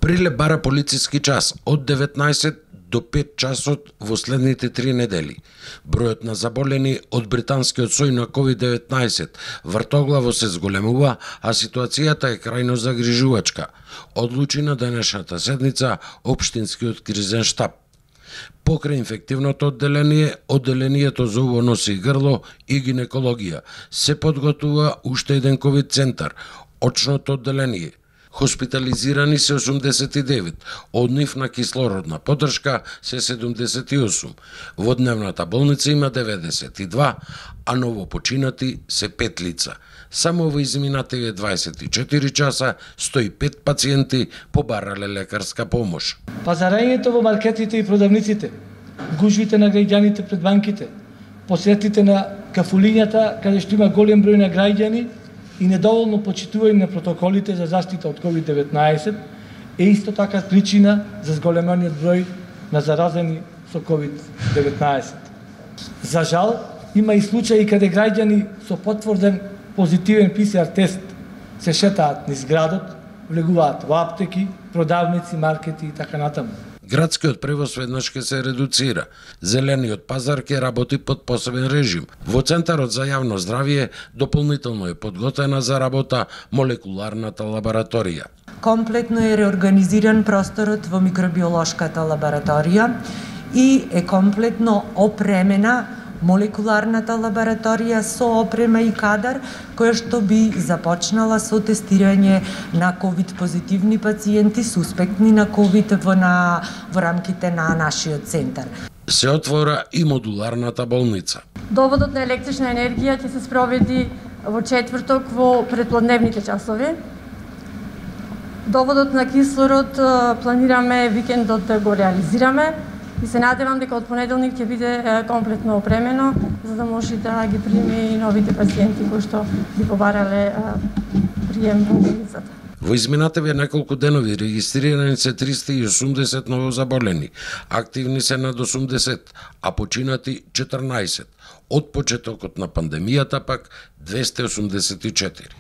Прилеп бара полициски час од 19 до 5 часот во следните 3 недели. Бројот на заболени од британскиот сој на COVID-19 вртоглаво се зголемува, а ситуацијата е крајно загрижувачка, одлучи на денешната седница Општинскиот кризен штаб. Покрај инфективното одделение, одделението за уво, носи и грло и гинекологија се подготвува уште еден ковид центар, очното одделение. Хоспитализирани се 89, од нив на кислородна поддршка се 78. Во дневната болница има 92, а новопочинати се 5 лица. Само во изминативе 24 часа 105 пациенти побарале лекарска помош. Пазарењето во маркетите и продавниците, гужвите на граѓаните пред банките, посетите на кафулињата каде што има голем број на граѓани и недоволно почитување на протоколите за заштита од COVID-19 е исто така причина за зголемениот број на заразени со COVID-19. За жал, има и случаи каде граѓани со потврден позитивен ПЦР тест се шетаат низ градот, влегуваат во аптеки, продавници, маркети и така натаму. Градскиот превоз веднаш ќе се редуцира. Зелениот пазар ќе работи под посебен режим. Во Центарот за јавно здравје дополнително е подготвена за работа молекуларната лабораторија. Комплетно е реорганизиран просторот во микробиолошката лабораторија и е комплетно опремена молекуларната лабораторија со опрема и кадар, која што би започнала со тестирање на ковид позитивни пациенти, суспектни на ковид во рамките на нашиот центар. Се отвора и модуларната болница. Доводот на електрична енергија ќе се спроведи во четврток во предплодневните часови. Доводот на кислород планираме викендот да го реализираме и се надевам дека од понеделник ќе биде комплетно опремено, за да може да ги приеме и новите пациенти кои што би побарале прием во болницата. Во изминативе неколку денови регистрирани се 380 новозаболени, активни се над 80, а починати 14. Од почетокот на пандемијата пак 284.